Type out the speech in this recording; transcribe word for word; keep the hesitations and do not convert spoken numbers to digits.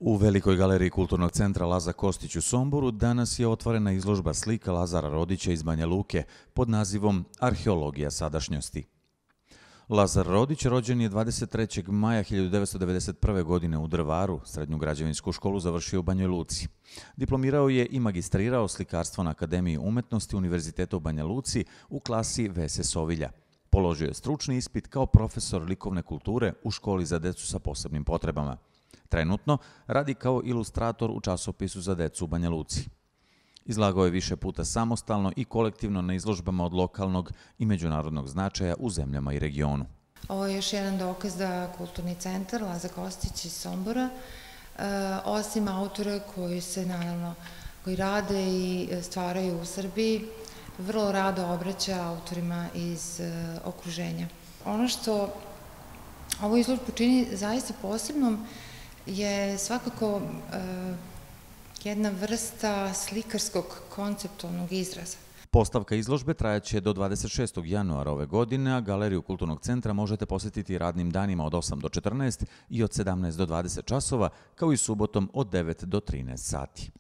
U Velikoj galeriji Kulturnog centra Laza Kostić u Somboru danas je otvorena izložba slika Lazara Rodića iz Banja Luke pod nazivom Arheologija sadašnjosti. Lazar Rodić rođen je dvadeset trećeg maja hiljadu devetsto devedeset prve. godine u Drvaru, srednju građevinsku školu završio u Banjoj Luci. Diplomirao je i magistrirao slikarstvo na Akademiji umetnosti Univerziteta u Banja Luci u klasi Vese Sovilja. Položio je stručni ispit kao profesor likovne kulture u školi za decu sa posebnim potrebama. Trenutno radi kao ilustrator u časopisu za decu u Banja Luci. Izlagao je više puta samostalno i kolektivno na izložbama od lokalnog i međunarodnog značaja u zemljama i regionu. Ovo je još jedan dokaz da Kulturni centar Laza Kostić iz Sombora, osim autora koji se naravno koji rade i stvaraju u Srbiji, vrlo rado obraća autorima iz okruženja. Ono što ovu izložbu čini zaista posebnom je svakako jedna vrsta slikarskog konceptualnog izraza. Postavka izložbe trajaće do dvadeset šestog januara ove godine, a galeriju Kulturnog centra možete posjetiti radnim danima od osam do četrnaest i od sedamnaest do dvadeset časova, kao i subotom od devet do trinaest sati.